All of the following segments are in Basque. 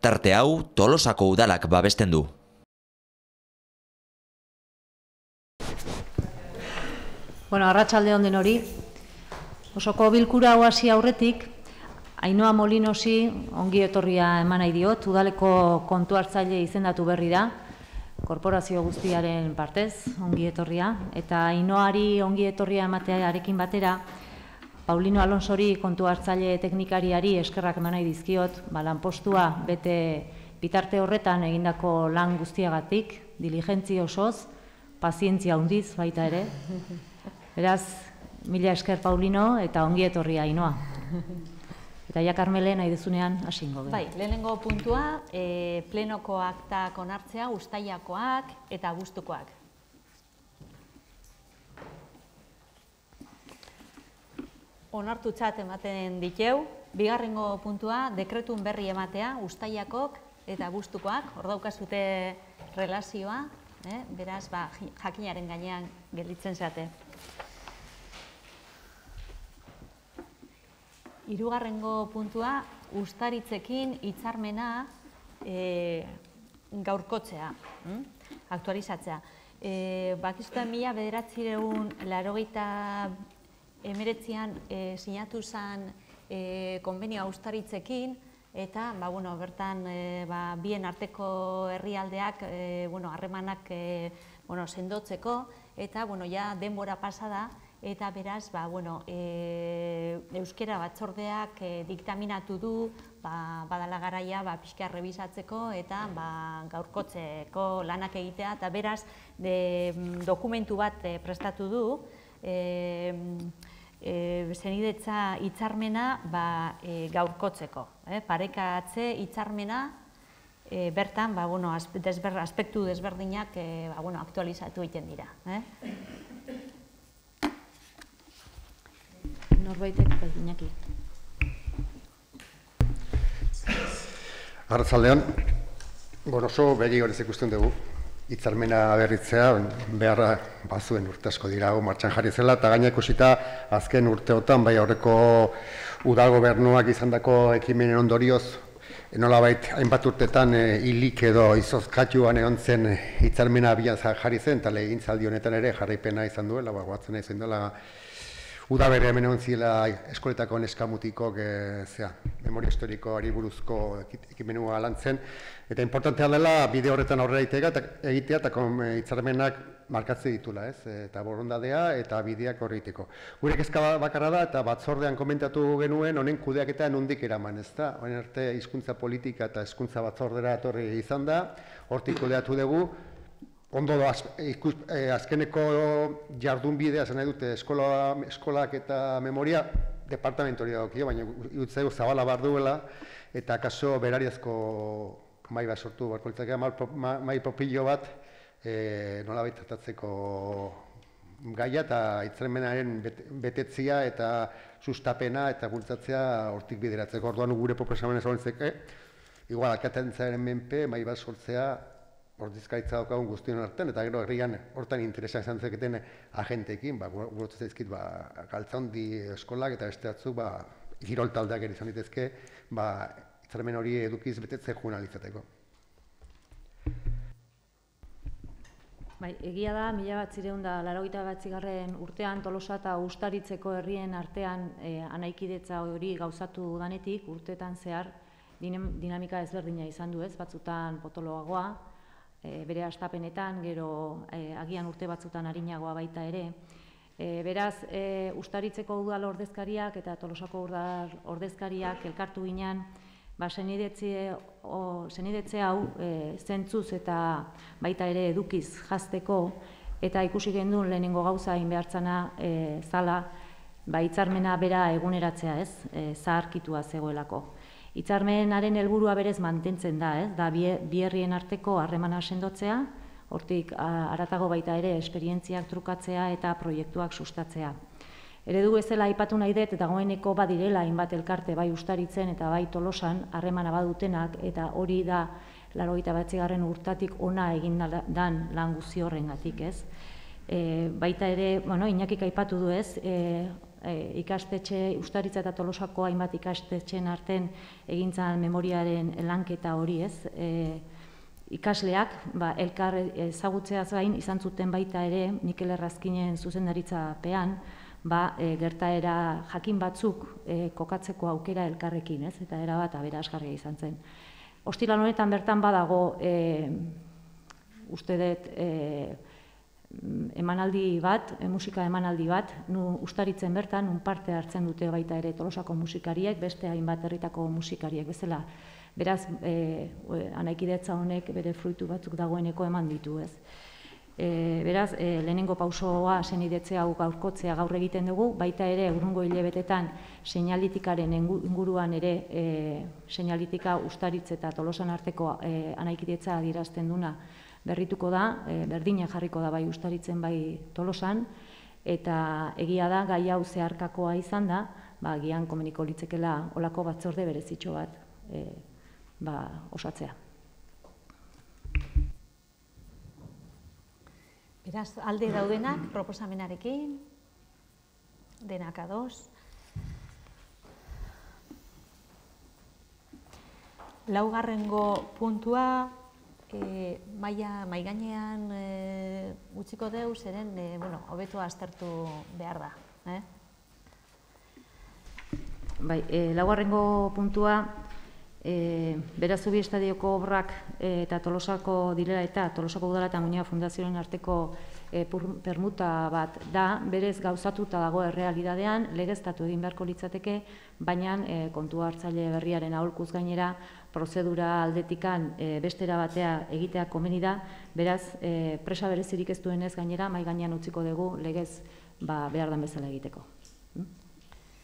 Tarte hau Tolosako udalak babesten du. Arratsalde on denori. Osoko bilkura hau hasi aurretik, Ainhoa Molinosi ongi etorria eman nahi diot, udaleko kontu hartzaile izendatu berri da, korporazio guztiaren partez, ongi etorria, eta Ainhoari ongi etorria ematearekin batera, Paulino Alonsori kontu hartzaile teknikariari eskerrak eman nahi dizkiot, lanpostua bete bitarte horretan egindako lan guztiagatik, diligentzia osoz, pazientzia handiz baita ere. Beraz, mila esker Paulino eta ongi etorria Ainhoa. Eta ja Karmele nahi dezunean hasingo. Bai, lehenengo puntua, plenoko aktak onartzea, uztailakoak eta abuztukoak. Onartutzat ematen diteu, bigarrengo puntua, dekretun berri ematea, uztailakok eta abuztukoak, hor daukazute relazioa, beraz, jakinaren gainean gelditzen zate. Hirugarrengo puntua, uztaritzekin hitzarmena gaurkotzea, aktualizatzea. Bakizuten 1989an sinatu zen konbenioa uztaritzekin, eta bertan bien arteko herrialdeak harremanak sendotzeko, eta denbora pasada, eta beraz, euskera batzordeak diktaminatu du, badala garaia pixka rebisatzeko eta gaurkotzeko lanak egitea, eta beraz, dokumentu bat prestatu du, zenidetza hitzarmena gaurkotzeko. Parekatze hitzarmena, bertan, aspektu desberdinak aktualizatu egiten dira. Norbaitek Iñaki. Arratsaldean, oso begi horrez ikusten dugu. Hitzarmena berritzea beharra bazuen urte asko dira martxan jarri zela, eta gaina ikusita azken urteotan bai aurreko udal gobernuak izandako ekimenen ondorioz, nolabait hainbat urtetan hilik edo izozkatuan egon zen hitzarmena abian jarri zen, eta legegintzaldi honetan ere jarraipena izan duela, goatzen izan duela udaberri hemen egon zila eskoletako neskamutikok memoria historikoari buruzko ekimenua lantzen, eta importantea dela bide horretan aurrera egitea eta hitzarmenak markatze ditula, eta borondadea eta bideak horreiteko. Gure kezka bakarra da eta batzordean komentatu genuen honen kudeaketa nondik eraman, ezta? Honen arte hizkuntza politika eta hezkuntza batzordera etorri izan da, hortik kudeatu dugu. Ondo azkeneko jardun bidea zen nahi dute eskolak eta memoria departamentori dagokio, baina irutzeu zabala bar duela, eta kaso berariazko mai bat sortu barko litzake, mai popillo bat nolabait tratatzeko gaia eta hitzarmenaren betetzia eta sustapena eta bultzatzea hortik bideratzeko. Orduan gure proposamena zabaltzeke, igual alkatetzaren menpe mai bat sortzea ordezkaritza daukagun guztion artean, eta gero herrian hortan interesa izan zeketen agenteekin, gurotzen zaizkit galtzaundi eskolak eta beste batzuk kirol taldeak ere izan ditezke, hitzarmen hori edukiz betetze journalizateko. Egia da, 1989 urtean Tolosa eta Uztaritzeko herrien artean anaikidetza hori gauzatu danetik, urteetan zehar dinamika ezberdina izan du, batzutan potoloagoa, bere hastapenetan, gero agian urte batzutan arinagoa baita ere. Beraz, Uztaritzeko udal ordezkariak eta Tolosako udal ordezkariak elkartu ginen, zenidetze hau zentzuz eta baita ere edukiz jazteko, eta ikusi gendun lehenengo gauza egin behartzana zala, hitzarmena bera eguneratzea, zaharkitua zegoelako. Hitzarmenaren helburua berez mantentzen da bi herrien arteko harremana sendotzea, hortik haratago baita ere esperientziak trukatzea eta proiektuak sustatzea. Eredu bezala aipatu nahi dut, eta dagoeneko badirela hainbat elkarte bai Uztaritzen eta bai Tolosan harremana badutenak, eta hori da 89. urtatik ona egin dan lan guzti horrengatik, Baita ere, Iñakik aipatu du ikastetxe, Ustaritza eta Tolosako hainbat ikastetxeen arten egintzan memoriaren lanketa hori, ez? Ikasleak, elkar ezagutzeaz gain, izan zuten baita ere, Mikel Errazkinen zuzendaritzapean, gertaera jakin batzuk kokatzeko aukera elkarrekin, ez? Eta erabat aberasgarria izan zen. Ostiral honetan bertan badago, uste dut, emanaldi bat, musika emanaldi bat, Ustaritzen bertan, parte hartzen dute baita ere Tolosako musikariek, beste hainbat herritako musikariek bezala. Beraz, anaikidetza honek bere fruitu batzuk dagoeneko eman ditu, ez? Beraz, lehenengo pausoa senidetzea gaurkotzea gaur egiten dugu, baita ere urrungo hilabetetan seinalitikaren inguruan ere seinalitika Ustaritz eta Tolosan arteko anaikidetza adierazten duna berrituko da, berdina jarriko da bai Ustaritzen bai Tolosan, eta egia da gai hau zeharkakoa izan da, agian komeniko litzekela olako batzorde berezitxo bat osatzea. Beraz, alde daudenak proposamenarekin, denak ados. Laugarrengo puntua, maigainean utziko deu, zeren, hobeto aztertu behar da. Laugarrengo puntua, Berazubi estadioko obrak eta Tolosako direla eta Tolosako udala eta Muñoa Fundazioaren arteko permuta bat da, berez gauzatuta dago errealidadean, legeztatu egin beharko litzateke, baina kontu hartzaile berriaren aholkuz gainera, prozedura aldetikan bestera batea egitea komeni da, beraz, presa berezirik ez duenez gainera, mai gainean utziko dugu legez behar den bezala egiteko.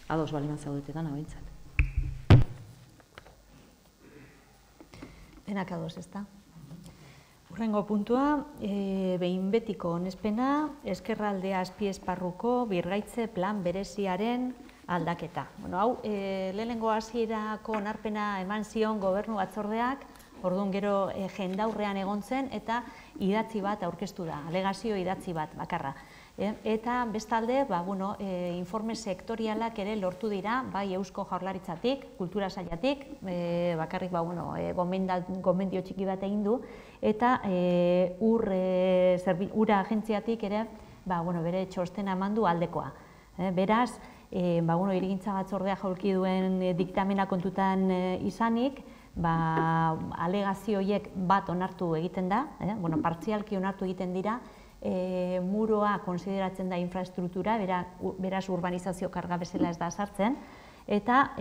Ados baliman zaudetetan, abintzat. Denak ados, ez da? Hurrengo puntua, behin betiko onespena, Ezkerraldea azpiesparruko birgaitze plan bereziaren aldaketa. Hau, lehenengo hasierako onarpena eman zion gobernu batzordeak, orduan gero jendaurrean egon zen, eta idatzi bat aurkeztu da, alegazio idatzi bat bakarra. Eta bestalde, informe sektorialak ere lortu dira, bai Eusko Jaurlaritzatik, Kultura Sailatik, bakarrik gomendio txiki bat egin du, eta ura agentziatik ere, bere txostena eman du aldekoa. Beraz, hirigintza batzordea jaulki duen diktamena kontutan izanik, alegazio horiek bat onartu egiten da, partzialki onartu egiten dira, muroa konsideratzen da infrastruktura, beraz urbanizazio karga bezala ez da sartzen, eta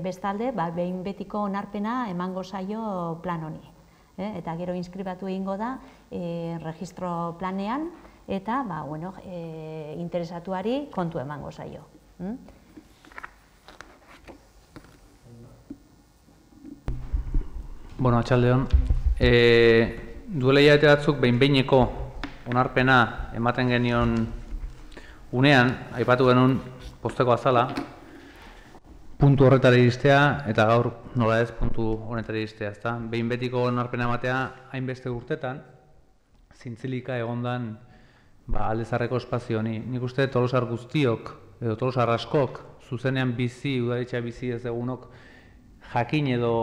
bestalde, behin betiko onarpena emango zaio plan honi. Eta gero inskribatu egingo da registro planean, eta interesatuari kontu emango zaio. Atxaldeon, duela hilabete batzuk behin-behineko onarpena ematen genion unean, aipatu genuen posteko azala, puntu horretara iristea, eta gaur nola ez puntu honetara iristea. Behin betiko onarpena ematea hainbeste urtetan, zintzilika egondan aldezarreko espazio honi. Nik uste Tolosar guztiok, edo Tolosar askok, zuzenean bizi, udaletxea bizi ez egunok, jakin edo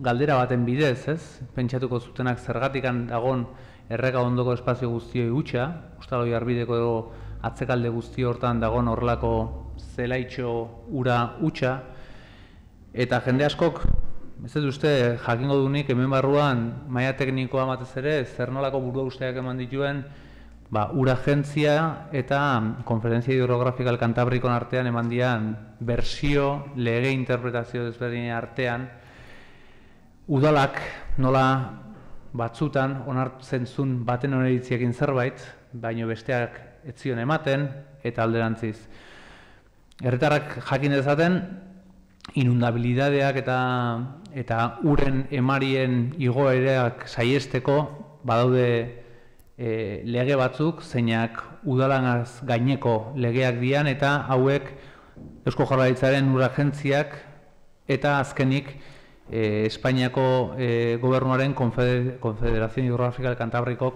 galdera baten bidez, pentsatuko zutenak zergatikan dagon erreka ondoko espazio guztioi hutsa, Ostaloi Arbideko edo atzekalde guzti hortan dagon horrelako zelaitxo ura hutsa, eta jende askok, ez dut uste, jakingo dunik hemen barruan maila teknikoa batez ere, zer nolako burua usteak eman dituen, ura agentzia eta konferentzia hidrografikal Kantabrikon artean eman dian bersio, lege interpretazio desberdinen artean, udalak nola batzutan onartzen zuen baten oneritziekin zerbait, baino besteak ez zion ematen eta alderantziz. Herritarrak jakin dezaten, inundabilidadeak eta uren emarien igoereak saiesteko badaude lege batzuk, zeinak udalanaz gaineko legeak dian, eta hauek Eusko Jaurlaritzaren ur agentziak eta azkenik Espainiako gobernuaren Konfederazio Hidrografikal Kantabriko